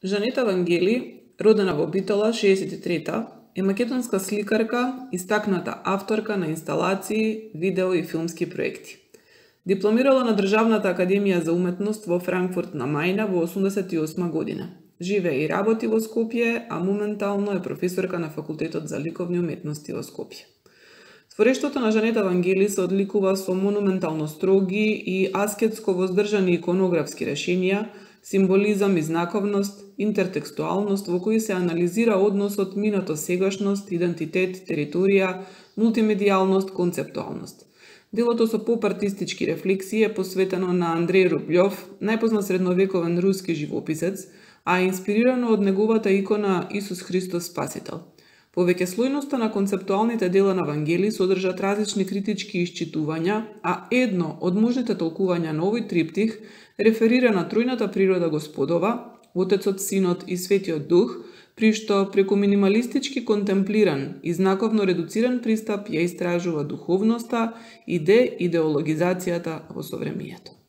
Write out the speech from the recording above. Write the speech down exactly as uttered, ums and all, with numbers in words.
Жанета Вангели, родена во Битола шеесет и трета, е македонска сликарка, истакната авторка на инсталации, видео и филмски проекти. Дипломирала на Државната академија за уметност во Франкфурт на Мајна во осумдесет и осма година. Живее и работи во Скопје, а моментално е професорка на Факултетот за ликовни уметности во Скопје. Творештвото на Жанета Вангели се одликува со монументално строги и аскетско воздржани иконографски решенија, символизам и знаковност, интертекстуалност во кои се анализира односот минато-сегашност, идентитет, територија, мултимедијалност, концептуалност. Делото со поп-артистички рефлексии е посветено на Андреј Рублјов, најпознат средновековен руски живописец, а е инспирирано од неговата икона Исус Христос Спасител. Повеќе слојноста на концептуалните дела на Вангели содржат различни критички исчитувања, а едно од можните толкувања на овој триптих реферира на тројната природа Господова, Отецот, Синот и Светиот Дух, при што преку минималистички контемплиран и знаковно редуциран пристап ја истражува духовноста и деидеологизацијата во совремието.